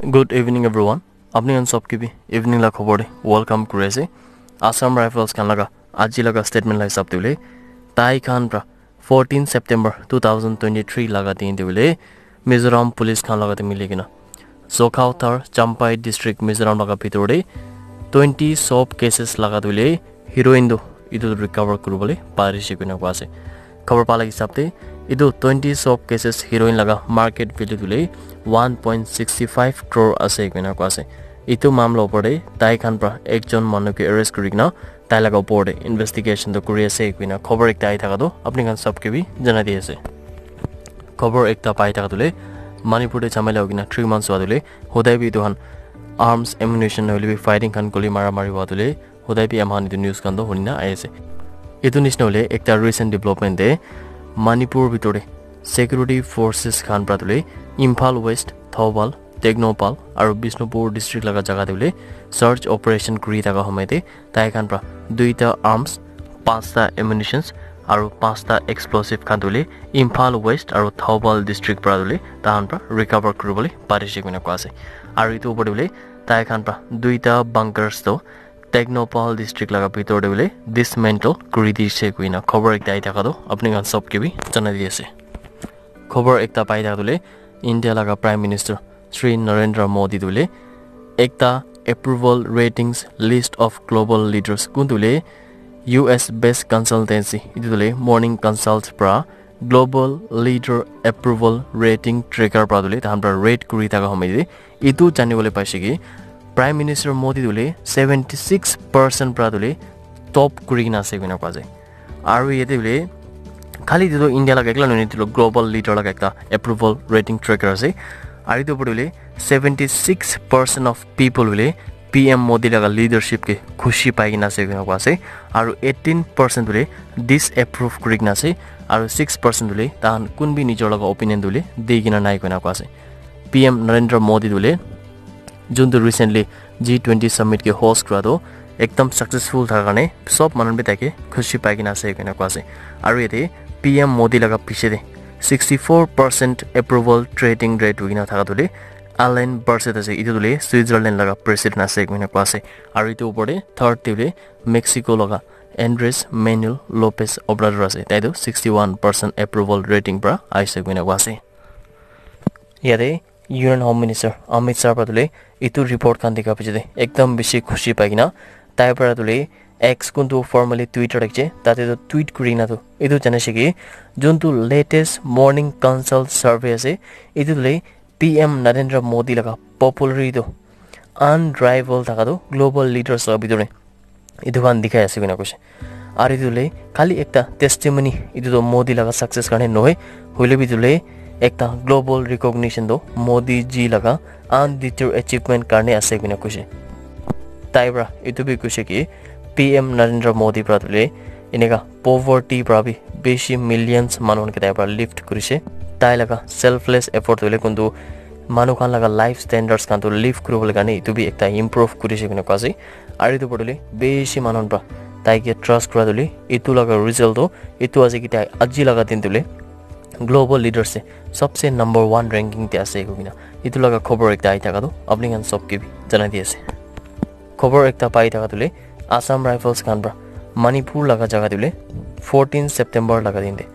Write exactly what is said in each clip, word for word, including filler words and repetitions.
Good evening everyone. Apni khan sob ke bi evening la khobor de welcome kuri ase. Assam Rifles khan laga aji laga statement la hisab de hoile, tai khan pra fourteen September two thousand twenty-three laga din de hoile Mizoram police khan laga de mili kena Zokhawthar, Champhai district, Mizoram laga bitor de twenty soap cases laga de hoile heroin tu etu recover kuribole parise koina koa ase. Khobor pa la hisab de etu twenty soap cases heroin laga market value tu hoile one point sixty five crore ase koina koa ase. Etu mamla opor de tai khan pra ekjon manu ke arrest kuri kena tai laga opor de investigation tu kuri ase koina khobor ekta ahi thaka tu apni khan sob ke bi janai di ase. Khobor ekta pai thaka tu hoile Manipur de jhamela hoi kena three months hua tu hoile hodai bi etu khan arms, ammunition, nohoile bi fighting khan, guli mara mari hua tu hoile hodai bi ami khan etu news khan toh huni na ahi ase. Etu nishina hoile ekta recent development de Manipur bitor de security forces khan pra tu hoile Imphal West, Thoubal, Tengnoupal aru Bishnupur district laga jaga de hoile search operation kuri thaka homoi de tai khan pra duita arms, panchta ammunitions aru panchta explosive khan tu hoile Imphal West aru Thoubal district pra tu hoile tai khan pra recover kuribole parise koina koa ase. Aru etu opor de hoile tai khan pra duita bunkers toh Tengnoupal district laga bitor de hoile dismantle kuri dise koina khobor ekta ahi thaka tu apni khan sob ke bi janai di ase. Khobor ekta pai thaka tu hoile India laga Prime Minister Shri Narendra Modi tu hoile ekta approval ratings list of global leaders kun tu hoile U S based consultancy etu tu hoile Morning Consult pra global leader approval rating tracker pra tu hoile tai khan pra rate kuri thaka homoi de etu jani bole paise ki Prime Minister Modi tu hoile seventy six percent pra tu hoile top kuri kena ase koina koa ase. Aru yate hoile khali etu tu India laga ekla nohoi, etu tu global leader laga ekta approval rating tracker ase. Aru etu opor de hoile seventy six percent of people hoile P M Modi laga leadership ke khushi pai kena ase koina koa ase. Aru eighteen percent hoile disapprove kuri kena ase. Aru six percent hoile tai khan kun bi nijor laga opinion tu hoile di kena nai koina koa ase. P M Narendra Modi tu hoile juntu recently G twenty summit ke host kura tu ekdam successful thaka karne sob manu bi tai ke khushi pai kena ase koina koa ase. Aru yate P M Modi laga piche de sixty four percent approval trading rate hoi kena thaka tu hoile Alain Berset ase, etu tu hoile Switzerland laga president ase koina koa ase. Aru etu opor de third te hoile Mexico laga Andres Manuel Lopez Obrador ase, tai tu sixty one percent approval rating pra aise koina koa ase. Yate Union Home Minister Amit Shah pra tu hoile etu report khan dikha piche de ekdam bishi khushi pai kena tai pra tu hoile X kun tu formerly Twitter thakise tate tu tweet kuri kena tu etu janaise ki juntu latest Morning Consult survey ase etu tu hoile P M Narendra Modi laga popularity tu unrivaled thaka tu global leaders laga bitor de etu khan dikhai ase koina koise. Aru etu hoile khali ekta testimony, etu tu Modi laga success karne nohoi, hoile bi etu hoile ekta global recognition tu Modi ji laga undeterred achievement karne ase koina koise. Tai pra etu bi koise ki P M Narendra Modi pra tu hoile eneka poverty pra bi bishi millions manu khan ke tai pra lift kurise. Tai laga selfless effort tu hoile kuntu manu khan laga life standards khan tu lift kuribole karne etu bi ekta improve kurise koina koa ase. Aru etu opor te hoile bishi manu khan pra tai ke trust kura tu hoile etu laga result tu etu ase ki tai aji laga din tu hoile global leaders te sabse number one ranking te ase koina etu laga khobor ekta ahi thaka tu apni khan sob ke bi janai di ase. Khobor ekta pai thaka tu hoile Assam Rifles khan pra Manipur laga jaga te hoile fourteen September laga din te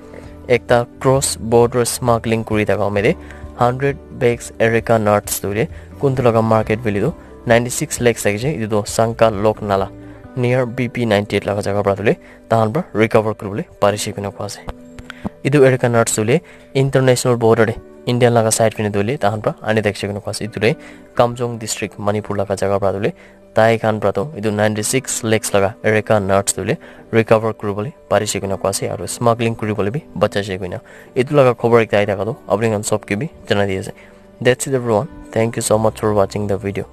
ekta cross border smuggling kuri thaka homoi te hundred bags areca nuts tu hoile kuntu laga market value tu ninety six lakhs thakise, etu tu Sanka Lok Nala near B P ninety eight laga jaga pra tu hoile tahan pra recover kuribole parise koina koa ase. Etu areca nuts tu hoile international border te Indian laga side phane tu hoile tahan pra ani thakise koina koa ase. Etu tu hoile Kamjong district Manipur laga jaga pra tu hoile tai khan pra tu etu ninety six lakhs laga areca nuts tu hoile recover kuribole parise koina koa ase aru smuggling kuribole bi bachaise koina etu laga khobor ekta ahi thaka tu apni khan sob ke bi janai di ase. That's it everyone. Thank you so much for watching the video.